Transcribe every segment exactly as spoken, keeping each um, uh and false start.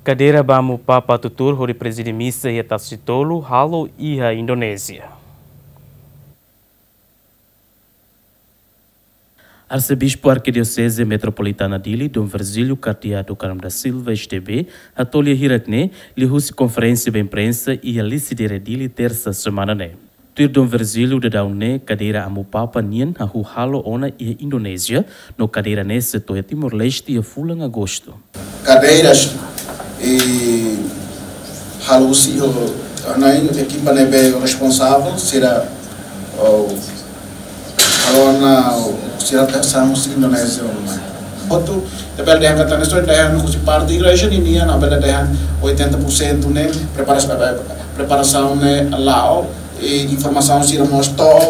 Kadeira ba Amu Papa tuur hodi prezide misa iha Tasitolu halo iha Indonézia. Arsebispu Arkidioseze Metropolitana Dili, Dom Virgílio Cardeal do Carmo da Silva, S D B, hato'o lia hirak ne'e liuhusi konferénsia ba imprensa iha Lisidere, Dili, tersa semana ne'e. Tuir Dom Virgílio, daudaun ne'e kadeira Amu Papa nian hahú halo ona iha Indonézia, no kadeira ne'e sei to'o iha Timor-Leste iha fulan Agostu. Kadeiras i halo husi ho, nain ekipa ne'ebé responsavel sira, o, halo ona, sira ta sa husi Indonézia ona. Hotu, ita bele dehan katak ne'e só dehan husi parte igreja ninian, ita bele dehan oitenta por cento ne'e preparasaun, preparasaun ne'e la'o, i informasaun sira mós to'o,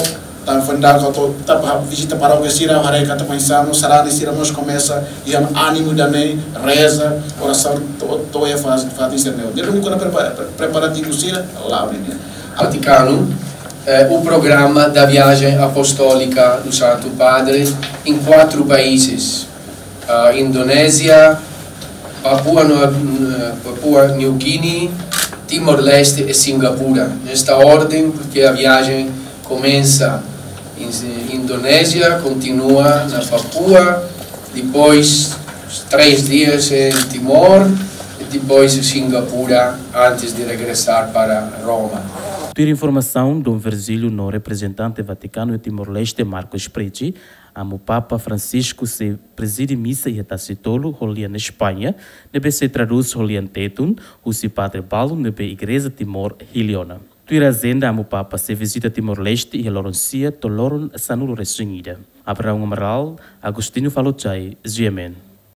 tan fenda ko to, ta pa vizita parókia sira, haree katak oinsá no sarani sira mós komesa iha ánimu ida-ne'e, reza, orasaun to'o, to'o iha faz, fatin sira-ne'e. Ne'e duni kona prepara, preparativu sira la'o ninian. Vaticano, eh, o programa da viagem apostólica do Santo Padre em quatro países, ah, Indonézia, Papua, Nua-, Papua New Guinea, Timor-Leste e Singapura. Nesta ordem, porque a viagem começa em Indonézia, continua na Papua, depois três dias em Timor e depois em Singapura antes de regressar para Roma. Tuir informasaun Dom Virgílio no reprezentante Vatikanu iha Timor-Leste, Marcos Price, Amu Papa Francisco sei prezide misa iha Tasitolu ho lian España, ne'ebé sei tradús ho lian Tetun husi padre balu ne'ebé Igreja Timor hili ona. Tuir ajenda, Amu Papa sei vizita Timor-Leste iha loron sia to'o loron sanulu-resin-ida. Abraão Amaral, Agostinho Falochai, G M N.